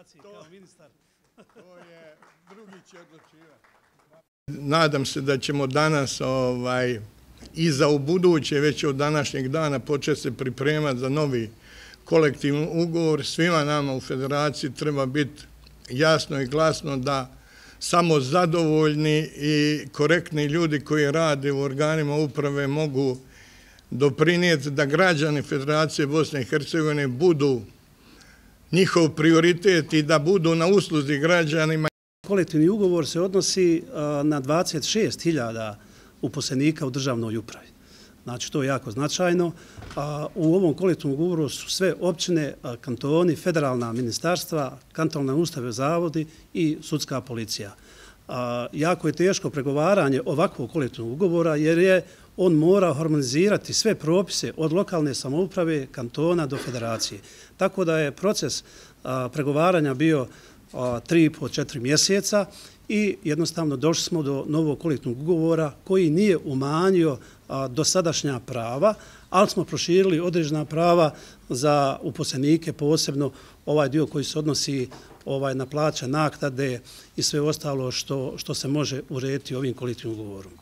federaciji kao ministar. To je drugi će odlučivati. Nadam se da ćemo danas i za ubuduće već od današnjeg dana početi se pripremati za novi kolektivni ugovor. Svima nama u federaciji treba biti jasno i glasno da samo zadovoljni i korektni ljudi koji rade u organima uprave mogu doprinijeti da građani Federacije Bosne i Hercegovine budu njihov prioritet i da budu na usluzi građanima. Kolektivni ugovor se odnosi na 26.000 uposlenika u državnoj upravi. Znači, to je jako značajno. U ovom kolektivnom ugovoru su sve općine, kantoni, federalna ministarstva, kantonalne ustanove, zavodi i sudska policija. Jako je teško pregovaranje ovakvog kolektivnog ugovora jer je on mora harmonizirati sve propise od lokalne samouprave, kantona do federacije. Tako da je proces pregovaranja bio 3,5-4 mjeseca i jednostavno došli smo do novog kolektivnog ugovora koji nije umanjio dosadašnja prava, ali smo proširili određena prava za uposlenike, posebno ovaj dio koji se odnosi na plaće, naknade i sve ostalo što se može urediti ovim kolektivnim ugovorom.